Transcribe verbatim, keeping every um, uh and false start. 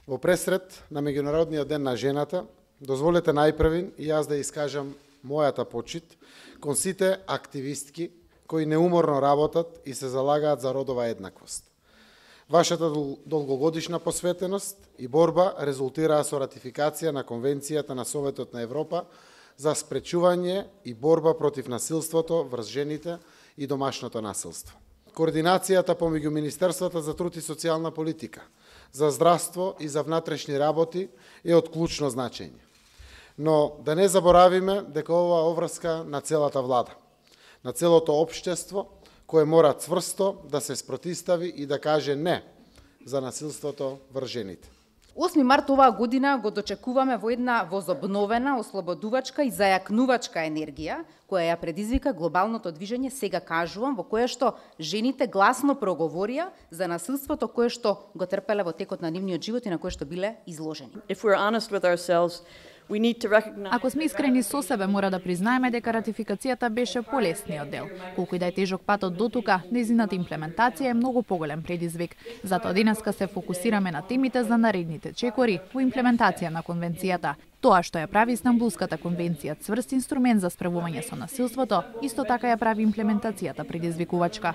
Во пресрет на Меѓународниот ден на жената, дозволете најпрвин и јас да искажам мојата почит кон сите активистки кои неуморно работат и се залагаат за родова еднаквост. Вашата долгогодишна посветеност и борба резултираа со ратификација на Конвенцијата на Советот на Европа за спречување и борба против насилството врз жените и домашното насилство. Координацијата помеѓу Министерствата за труд и социјална политика, за здравство и за внатрешни работи е од клучно значење. Но да не заборавиме дека ова обврска на целата влада, на целото општество, кое мора цврсто да се спротистави и да каже не за насилството врз жените. осми март оваа година го дочекуваме во една возобновена, ослободувачка и зајакнувачка енергија, која ја предизвика глобалното движење Сега кажувам, во кое што жените гласно проговорија за насилството кое што го трпеле во текот на нивниот живот и на кое што биле изложени. If we're honest with ourselves, we need to recognize... Ако сме искрени со себе, мора да признаеме дека ратификацијата беше полесниот дел. Колку и да е тежок патот до тука, нејзината имплементација е многу поголем предизвик. Затоа денеска се фокусираме на темите за наредните чекори во имплементација на конвенцијата. Тоа што ја прави Истанбулската конвенција цврст инструмент за справување со насилството, исто така ја прави имплементацијата предизвикувачка.